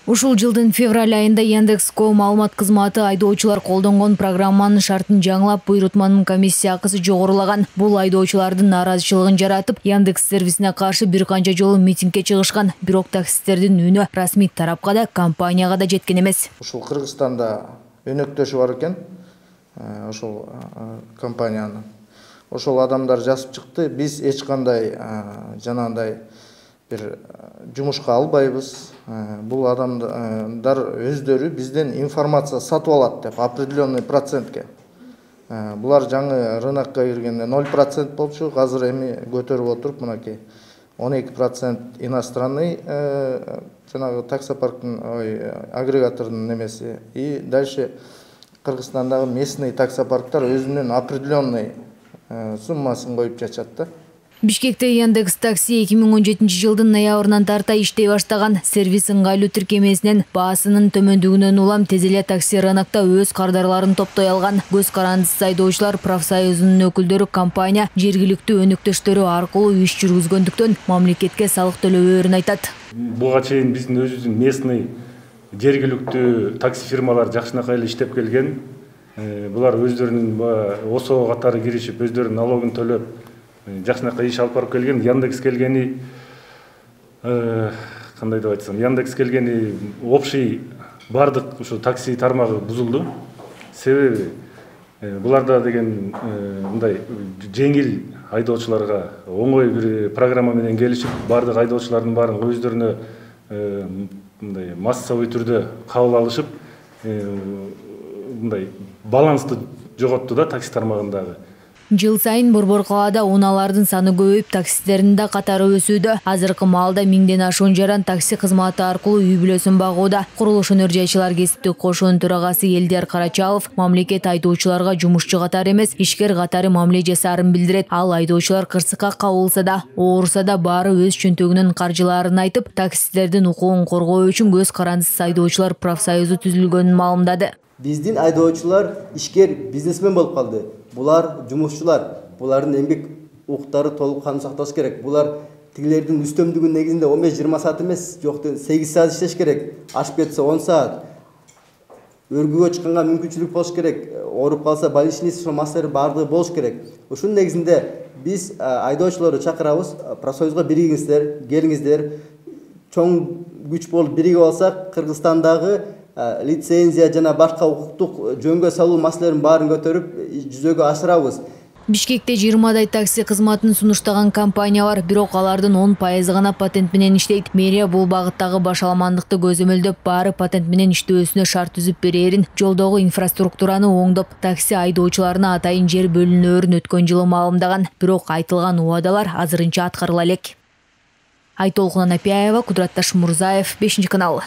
Ушул жылдын февраль айында Яндекс.Го маалымат кызматы айдоочулар колдонгон программанын шартын жаңылап, буйрутманын комиссия акысы жогорулаган. Бул айдоочулардын нааразычылыгын жаратып, Яндекс сервисине каршы бир канча жолу митингге чыгышкан. Бирок таксисттердин үнү расмий тарапка да, компанияга да жеткен эмес. Ушул Кыргызстанда өнөктөшү бар экен. Ошол компаниянын. Ошол адамдар жазып чыкты. Биз эч кандай жанагындай бир жумушка албайбыз. Бул адамдар өздөрү бизден информация сатып алат деп определенный процентке. Булар жаңы рынокко киргенде 0% болчу, азыр эми көтөрүп отуруп мынакей 12% иностранный жанагы таксопарктын агрегатордун немеси. И дальше Кыргызстандагы местный таксопарктар өзүнүн определенный суммасын коюп жачат да. Бишкекте Яндекс такси 2017 жылдын ноябрынан тарта иштей баштаган. Сервис ыңгайлуу тиркемесинен баасынын төмөндүгүнөн улам тез эле такси рынокто өз кардарларын топтой алган. Көз карандысыз айдоочулар профсоюзунун өкүлдөрү компания жергиликтүү өнөктөштөрү аркылуу иш жүргүзгөндүктөн мамлекетке салык төлөбөөрүн айтат. Буга чейин биздин өзүбүздүн местный жергиликтүү такси фирмалар жакшынакай эле иштеп келген. Булар өздөрүнүн ОСО катары киришип, өздөрүнүн налогун төлөп жакшынакай иш алып барып келген. Яндекс келгени кандай деп айтсам, Яндекс келгени общий бардык ушу такси тармагы бузулду. Себеби буларда деген мындай жеңил айдоочуларга оңой бир программа менен келишип, бардык айдоочулардын баарын өздөрүнө мындай массовый түрдө кабыл алышып, мындай балансты жоготту да такси тармагындагы. Жыл сайын Борбор калаада унаалардын саны көбөйүп, таксистердин да катары өсүүдө. Азыркы маалда 1000ден ашуун жаран такси кызматы аркылуу үй бүлөсүн багууда. Курулуш өнөр жайчылар кесиптик кошуунун төрагасы Элдер Карачалов мамлекет айдоочуларга жумушчу катары эмес, ишкер катары мамиле жасаарын билдирет. Ал айдоочулар кырсыкка кабылса да, ооруса да баары өз чөнтөгүнүн каржылаарын айтып, таксистердин укугун коргоо үчүн көз карандысыз айдоочулар профсоюзу түзүлгөнүн маалымдады. Биздин айдоочулар ишкер бизнесмен болуп калды. Булар жумушчулар, булардын эмгек укуктары толук кануу сакталыш керек. Булар тигилердин үстөмдүгүнүн негизинде 15-20 саат эмес, жок 8 саат иштеш керек. Ашып кетсе 10 саат. Өргүгө чыкканга мүмкүнчүлүк болуш керек. Ооруп калса больничный массалары баардыгы болуш керек. Ушунун негизинде биз айдоочуларды чакырабыз, профсоюзга биригиңиздер, келиңиздер. Чоң күч болуп биригип алсак, Кыргызстандагы лицензия жана башка укуктук жөнгө салуу маселелерин баарын көтөрүп жүзөгө ашырабыз. Бишкекте 20дай такси кызматын сунуштаган компания бар, бирок алардын 10% гана патент менен иштейт. Мэрия бул багыттагы башаламандыкты көзөмөлдөп, баары патент менен иштөөсүнө шарт түзүп берерин, жолдогу инфраструктураны оңдоп, такси айдоочуларына атайын жер бөлүнөөрүн өткөн жылы маалымдаган. Бирок айтылган убадалар азырынча аткарыла элек. Айтолкун Анапияева, Кудурат Ташмурзаев, 5 канал.